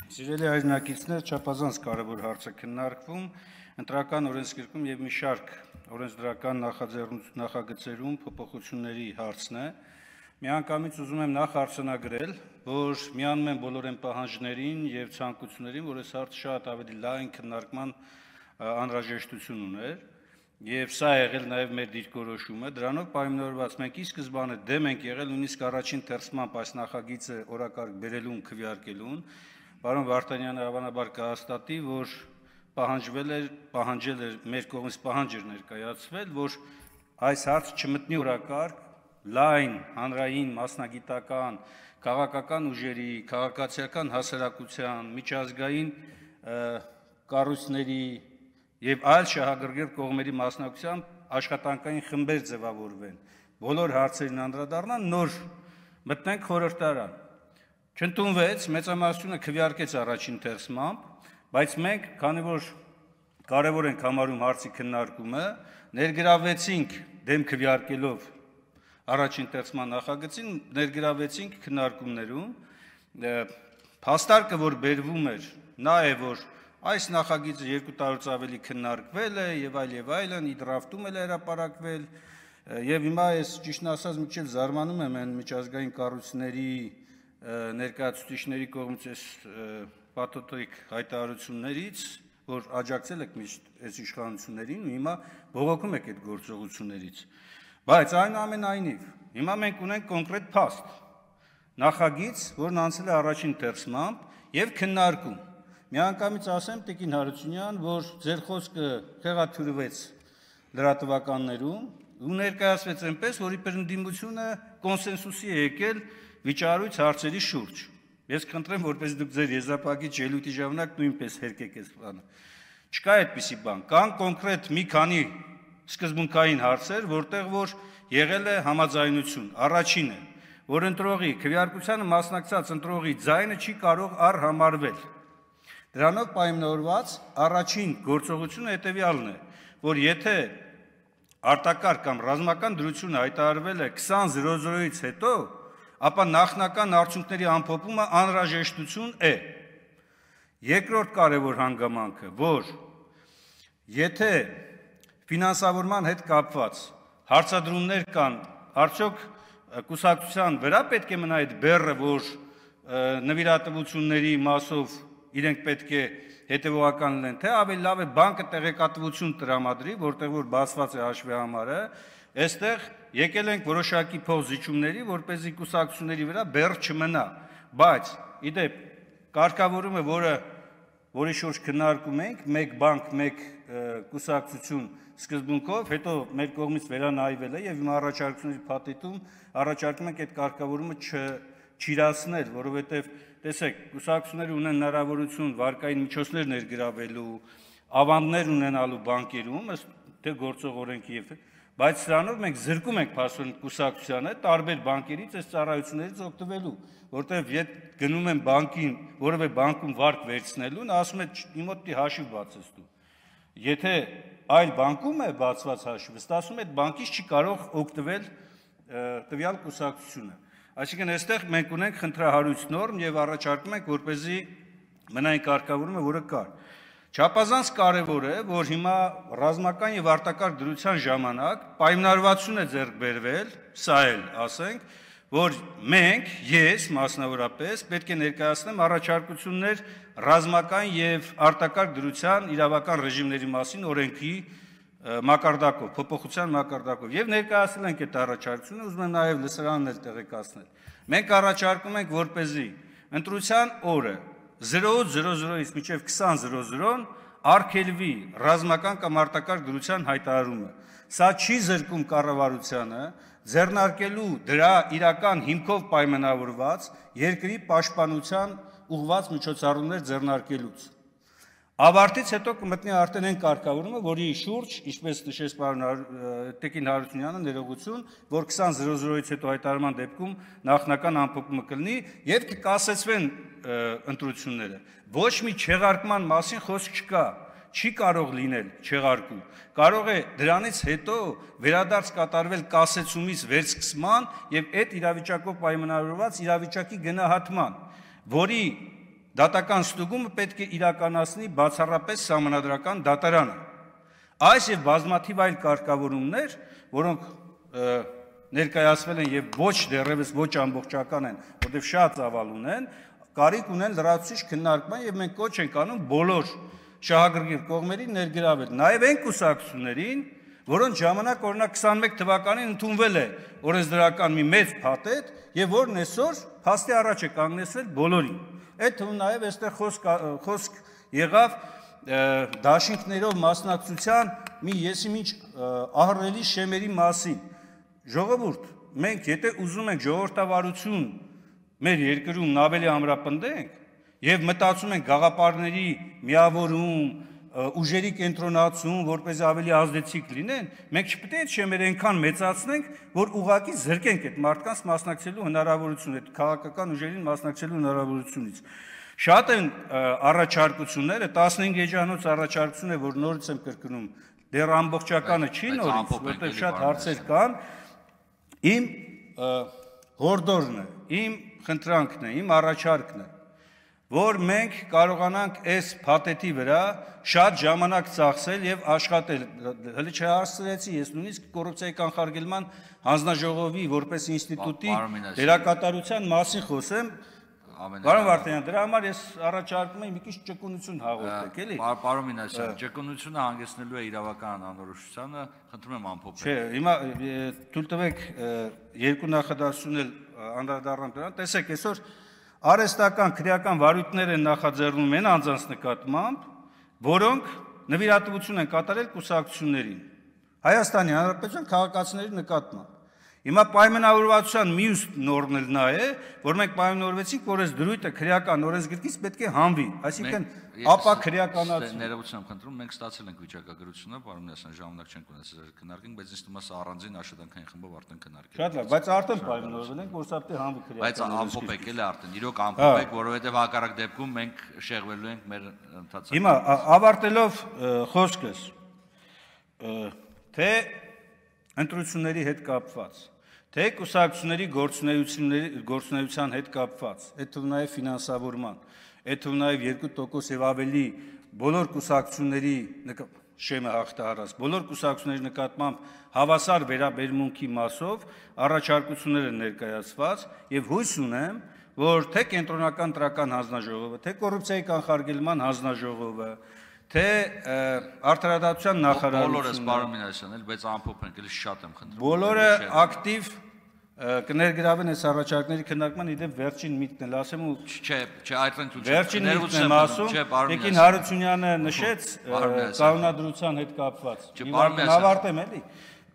Սիրելի հայրենակիցներ, չափազանց կարևոր հարց է քննարկվում ընտրական օրենսգրքում եւ մի շարք օրենսդրական նախագծերում փոփոխությունների հարցն է։ Միանգամից ուզում եմ նախ արձանագրել, որ միանում են բոլոր այն պահանջներին եւ ցանկություններին, որ այս հարցը շատ ավելի լայն քննարկման անհրաժեշտություն ուներ, եւ սա է եղել նաեւ մեր դիրքորոշումը։ Դրանով պայմանավորված մենք ի սկզբանե դեմ ենք եղել նույնիսկ առաջին թերսմամբ այս նախագիծը օրակարգ բերելուն, քվեարկելուն։ Պարոն Վարդանյանը հավանաբար կհաստատի, որ պահանջել էր մեր կողմից պահանջ էր ներկայացվել, որ այս հարցը չմտնի օրակարգ լայն, հանրային, մասնագիտական, քաղաքական ուժերի, քաղաքացիական հասարակության, միջազգային կառույցների եւ այլ շահագրգիռ կողմերի մասնակցությամբ աշխատանքային խմբեր ձևավորվեն, բոլոր հարցերին անդրադառնան, նոր մտնենք խորհրդարան։ Չընդունվեց, մեծամասնությունը քվեարկեց առաջին թերսմամբ, բայց մենք, քանի որ կարևոր ենք համարում հարցի քննարկումը, ներգրավեցինք դեմ քվեարկելով առաջին թերսման նախագծին, ներգրավեցինք քննարկումներում, փաստարկը, որ բերվում էր, նա է, որ այս նախագիծը 2 տարուց ավելի քննարկվել է եւ այլն, իդրաֆտում էլ հրապարակվել, եւ հիմա ես ճիշտն ասած մի քիչ զարմանում եմ այն միջազգային կառույցների ներկայացուցիչների կողմից այս պաթոտիկ հայտարարություններից, որ աջակցել եք միշտ այս իշխանություններին ու հիմա բողոքում եք այդ գործողություններից։ Բայց այնուամենայնիվ, հիմա մենք ունենք կոնկրետ փաստ, նախագիծ, որն անցել է առաջին թերսմամբ եւ քննարկում։ Միանգամից ասեմ Տիկին Հարությունյան, որ ձեր խոսքը խեղաթյուրվեց լրատվականներում ու ներկայացվեց այնպես, որ իբր ընդդիմությունը կոնսենսուսի է եկել վիճարույց հարցերի շուրջ։ Ես խնդրեմ, որպես դուք ձեր եզրափակիչ ելույթի ժամանակ նույնպես հերկեք այս բանը։ Չկա այդպիսի բան, կան կոնկրետ մի քանի սկզբունքային հարցեր, որտեղ որ եղել է համաձայնություն։ Առաջինը, որ ընտրողի քվեարկությանը մասնակցած ընտրողի ձայնը չի կարող առհամարվել։ Դրանով պայմանավորված առաջին գործողությունը հետևյալն է, որ եթե արտակարգ կամ ռազմական դրությունը հայտարարվել է 20:00-ից հետո, ապա նախնական արդյունքների ամփոփումը անհրաժեշտություն է։ Երկրորդ կարևոր հանգամանքը, որ եթե ֆինանսավորման հետ կապված հարցադրումներ կան, արդյոք կուսակցության վրա պետք է մնա այդ բեռը, որ նվիրատվությունների մասով իրենք պետք է հետևողական լինեն, թե ավելի լավ է բանկը տեղեկատվություն տրամադրի, որտեղ որ բացված է հաշվի համարը, այստեղ եկել ենք որոշակի փոխզիջումների, որպեսզի կուսակցությունների վրա բեռ չմնա, բայց իդեպ կարգավորումը, որի շուրջ քննարկում ենք, մեկ բանկ, մեկ կուսակցություն սկզբունքով, հետո մեր կողմից վերանայվել է եւ հիմա առաջարկությունների փաթեթում առաջարկում ենք այդ կարգավորումը չիրացնել, որովհետեւ տեսեք, կուսակցությունները ունեն հնարավորություն վարկային միջոցներ ներգրավելու, ավանդներ ունենալու բանկերում, ըստ թե գործող օրենքի եւ բայց սրանով մենք զրկում ենք փաստորեն կուսակցությանը տարբեր բանկերից այս ծառայություններից օգտվելու, որտեղ եթե գնում են բանկին, որևէ բանկում վարկ վերցնելուն, ասում է իմ մոտ հաշիվ բացես դու։ Եթե այլ բանկում է բացված հաշիվը, ստացվում է այդ բանկից չի կարող օգտվել տվյալ կուսակցությունը։ Այսինքն այստեղ մենք ունենք խնդրահարույց նորմ եւ առաջարկում ենք, որպեսզի մնա այն կարգավորումը, որը կար։ Չափազանց կարևոր է, որ հիմա ռազմական եւ արտակարգ դրության ժամանակ պայմանավորվածություն է ձեռք բերվել, սա էլ ասենք, որ մենք, ես մասնավորապես պետք է ներկայացնեմ առաջարկություններ ռազմական եւ արտակարգ դրության իրավական ռեժիմների մասին օրենքի մակարդակով, փոփոխության մակարդակով եւ ներկայացնել ենք այդ առաջարկությունը, ուզում եմ նաեւ լսարաններ տեղեկացնել։ Մենք առաջարկում ենք, որպեսզի ընտրության օրը 0:00-ից մինչև 20:00 արգելվի ռազմական կամ արտակարգ դրության հայտարարումը։ Սա չի զրկում կառավարությանը ձեռնարկելու դրա իրական հիմքով պայմանավորված երկրի պաշտպանության ուղղված միջոցառումներ ձեռնարկելուց։ Ավարտից հետո կմտնի արդեն այն կարգավորումը, որի շուրջ, ինչպես նշեց պարոն Տիկին Հարությունյանը, ներողություն, որ 20:00-ից հետո հայտարարման դեպքում նախնական ամփոփումը կլինի եւ կկասեցվեն ընտրությունները։ Ոչ մի չեղարկման մասին խոսք չկա, չի կարող լինել չեղարկում։ Կարող է դրանից հետո վերադարձ կատարվել կասեցումից վերսկսման եւ այդ իրավիճակով պայմանավորված իրավիճակի գնահատման, որի դատական ստուգումը պետք է իրականացնի բացառապես սահմանադրական դատարանը։ Այս եւ բազմաթիվ այլ կարգավորումներ, որոնք ներկայացվել են եւ ոչ դեռևս ոչ ամբողջական են, որտեղ շատ ծավալ ունեն, կարիք ունեն լրացուցիչ քննարկման եւ մենք կոչ ենք անում բոլոր շահագրգիռ կողմերին ներգրավել, նաեւ այն կուսակցություններին, որոնց ժամանակ օրինակ 21 թվականին ընդունվել է օրենսդրական մի մեծ փաթեթ եւ որն այսօր փաստի առաջ է կանգնեցրել բոլորին։ Այդ թվում նաեւ այստեղ խոսք եղավ դաշինքներով մասնակցության մի եսիմինչ ահռելի շեմերի մասին։ Ժողովուրդ, մենք եթե ուզում ենք ժողովրդավարություն մեր երկրում ավելի ամրապնդենք եւ մտածում ենք գաղափարների միավորում, ուժերի կենտրոնացում, որպես ավելի ազդեցիկ լինեն, մենք չպետք է այդ շեմերը այնքան մեծացնենք, որ ուղղակի զրկենք այդ մարդկանց մասնակցելու հնարավորությունը, այդ քաղաքական ուժերին մասնակցելու հնարավորությունից։ Շատ են առաջարկությունները, 15 էջանոց առաջարկություն է, որ նորից եմ կրկնում, դեռ ամբողջականը չի նորից, որտեղ շատ հարցեր կան։ Իմ հորդորն է, իմ խնդրանքն է, իմ առաջարկն է, որ մենք կարողանանք այս փաթեթի վրա շատ ժամանակ ծախսել եւ աշխատել։ Հələ չհասցրեցի ես նույնիսկ կոռուպցիայի կանխարգելման հանձնաժողովի որպես ինստիտուտի դերակատարության մասին խոսեմ։ Պարոն Վարդանյան, դրա համար ես առաջարկում եմ մի քիչ ճկունություն հաղորդեք, էլի։ Պարոն Մինասյան, ճկունությունը հանգեցնելու է իրավական անորոշությանը, խնդրում եմ ամփոփել։ Չէ, հիմա թույլ տվեք երկու նախադասություն էլ անդրադառնամ դրան։ Տեսեք, այսօր արհեստական քրեական վարույթներ են նախաձեռնում են անձանց նկատմամբ, որոնք նվիրատվություն են կատարել կուսակցություններին, Հայաստանի Հանրապետության քաղաքացիների նկատմամբ։ Հիմա պայմանավորվածության մյուս նորմն էլ նա է, որ մենք պայմանավորվեցինք, որ այս դրույթը քրեական օրենսգրքից պետք է հանվի, այսինքն ապա քրեականացում։ Ներողություն խնդրում, մենք ստացել ենք վիճակագրությունը, պարոն Մինասյան, ժամանակ չենք ունեցել քննարկենք, բայց ինձ թվում է սա առանձին աշխատանքային խմբով արդեն քննարկել։ Շատ լավ, բայց արդեն պայմանավորվել ենք, որ սա պետք է հանվի քրեական։ Բայց ամփոփեք էլ արդեն, իրոք ամփոփեք, որովհետև հակառակ դեպքում մենք շեղվելու ենք մեր ընթացքում։ Հիմա ավարտելով խոսքս, թե ընտրությունների հետ կապված, թե կուսակցությունների գործունեության հետ կապված, այդ թվում նաև ֆինանսավորման, այդ թվում նաև 2% եւ ավելի բոլոր կուսակցությունների շեմը հաղթահարած, բոլոր կուսակցությունների նկատմամբ հավասար վերաբերմունքի մասով առաջարկություններ են ներկայացված եւ հույս ունեմ, որ թե կենտրոնական տրական հանձնաժողովը, թե կոռուպցիայի կանխարգելման հանձնաժողովը, թե արդարադատության նախարարությունը բոլորս պարոն Մինասյան, էլ բայց ամփոփենք, էլի շատ եմ խնդրում։ Բոլորը ակտիվ կներգրավեն այս առաջարկների քննարկման, իդեպ վերջին միտքն էլ ասեմ ու չէ, այդտեղ ցույց վերջին միտքն եմ ասում, Տիկին Հարությունյանը նշեց կանոնադրության հետ կապված։ Ավարտեմ էլի։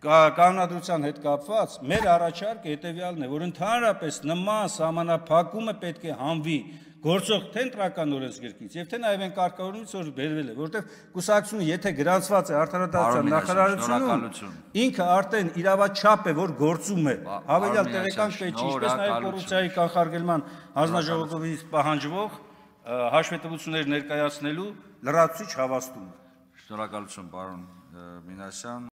Կանոնադրության հետ կապված մեր առաջարկը հետևյալն է, որ ընդհանրապես նման սահմանափակումը պետք է հանվի գործող թե ընտրական օրենսգրքից եւ թե նաեւ այն կարգավորումից, որ բերվել է, որովհետեւ կուսակցությունը եթե գրանցված է արդարադատության նախարարությունում, ինքը արդեն իրավաչափ է, որ գործում է, հավելյալ տեղեկանք պետք չի, ինչպես նաեւ կոռուպցիայի կանխարգելման հանձնաժողովից պահանջվող հաշվետվություններ ներկայացնելու լրացուցիչ հավաստում։ Շնորհակալություն, պարոն Մինասյան։